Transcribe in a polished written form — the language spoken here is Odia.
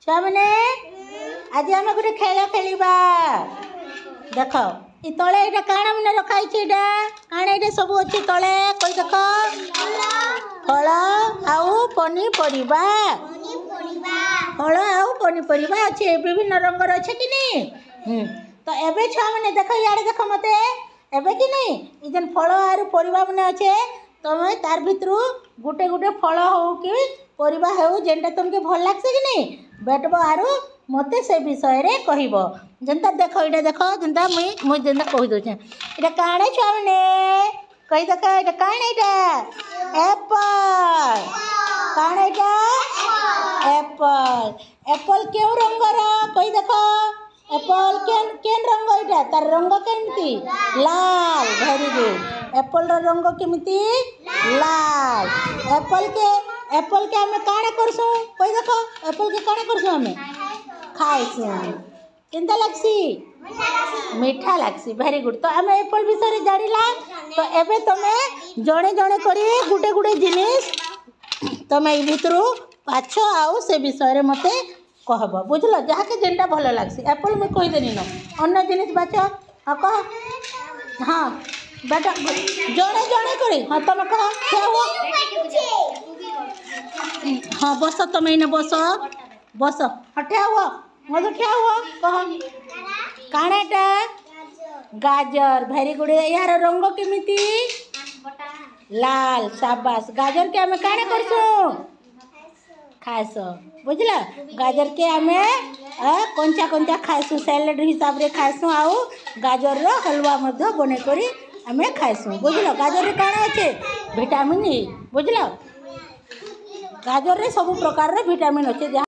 ଛୁଆମାନେ, ଆଜି ଆମେ ଗୋଟେ ଖେଳ ଖେଳିବା। ଦେଖ, ଇ ତଳେ ଏଇଟା କାଣା ମାନେ ରଖା ହେଇଛି? ଏଇଟା କାଣା? ଏଇଟା ସବୁ ଅଛି ତଳେ, କହି ଦେଖ। ଫଳ ଆଉ ପନିପରିବା। ଫଳ ଆଉ ପନିପରିବା ଅଛି, ବିଭିନ୍ନ ରଙ୍ଗର ଅଛି କି ନି? ତ ଏବେ ଛୁଆମାନେ ଦେଖ, ଇଆଡ଼େ ଦେଖ ମତେ। ଏବେ କି ନି, ଇ ଯେନ୍ ଫଳ ଆରୁ ପରିବା ମାନେ ଅଛେ, ତମେ ତାର ଭିତରୁ ଗୋଟେ ଗୋଟେ ଫଳ ହଉ କି ପରିବା ହେଉ, ଯେନ୍ଟା ତମକେ ଭଲ ଲାଗ୍ସି କି ନି, ବେଟବ ଆରୁ ମତେ ସେ ବିଷୟରେ କହିବ। ଯେନ୍ତା ଦେଖ, ଏଇଟା ଦେଖ, ଯେନ୍ତା ମୁଇଁ ଯେନ୍ତା କହି ଦଉଛେ। ଏଇଟା କାଣା ଛୁଆମାନେ, କହି ଦେଖ। ଏଇଟା କାଣା? ଏଇଟା ଏପଲ୍। କାଣା ଏଇଟା? ଏପଲ୍। ଏପଲ୍ କେଉଁ ରଙ୍ଗର, କହି ଦେଖ। ଏପଲ୍ କେନ୍ କେନ୍ ରଙ୍ଗ ଏଇଟା? ତାର ରଙ୍ଗ କେମିତି? ଲାଲ। Very good. ଏପଲ୍ର ରଙ୍ଗ କେମିତି? ଲାଲ। ଏପଲ୍କେ ଆମେ କାଣା କରସୁଁ, କହି ଦେଖ। ଏପଲ୍କେ କାଣା କରସୁଁ ଆମେ? ଖାଇସୁଁ। କେନ୍ତା ଲାଗ୍ସି? ମିଠା ଲାଗ୍ସି। Very good. ତ ଆମେ ଏପଲ୍ ବିଷୟରେ ଜାଣିଲା। ତ ଏବେ ତମେ ଜଣେ ଜଣେ କରି ଗୁଟେ ଗୁଟେ ଜିନିଷ ତମେ ଏଇ ଭିତରୁ ବାଛ ଆଉ ସେ ବିଷୟରେ ମୋତେ କହବ, ବୁଝିଲ? ଯାହାକେ ଯେନ୍ଟା ଭଲ ଲାଗ୍ସି। ଏପଲ୍ ମୁଇଁ କହିଦେନି ନ, ଅନ୍ୟ ଜିନିଷ ବାଛ। ହଁ, କହ। ହଁ ବେଟା, ଜଣେ ଜଣେ କରି। ହଁ, ତମେ କହ। ଠିଆ ହୁଅ। ହଁ, ବସ। ତମେ ଏଇନେ ବସ, ବସ। ହଁ, ଠିଆ ହୁଅ। ମଧୁ, ଠିଆ ହୁଅ, କହ କାଣା ଏଟା? ଗାଜର। Very good. ଏହାର ରଙ୍ଗ କେମିତି? ଲାଲ। ସାବାସ। ଗାଜରକେ ଆମେ କାଣା କରସୁଁ? ଖାଏସୁଁ, ବୁଝିଲ? ଗାଜରକେ ଆମେ କଞ୍ଚା କଞ୍ଚା ଖାଏସୁଁ, ସାଲାଡ଼ ହିସାବରେ ଖାଏସୁଁ, ଆଉ ଗାଜରର ହଲୁଆ ମଧ୍ୟ ବନେଇ କରି ଆମେ ଖାଏସୁଁ, ବୁଝିଲ? ଗାଜରରେ କାଣା ଅଛେ? ଭିଟାମିନ୍ ଇ, ବୁଝିଲ? ଗାଜରରେ ସବୁ ପ୍ରକାରର ଭିଟାମିନ୍ ଅଛେ ଯାହା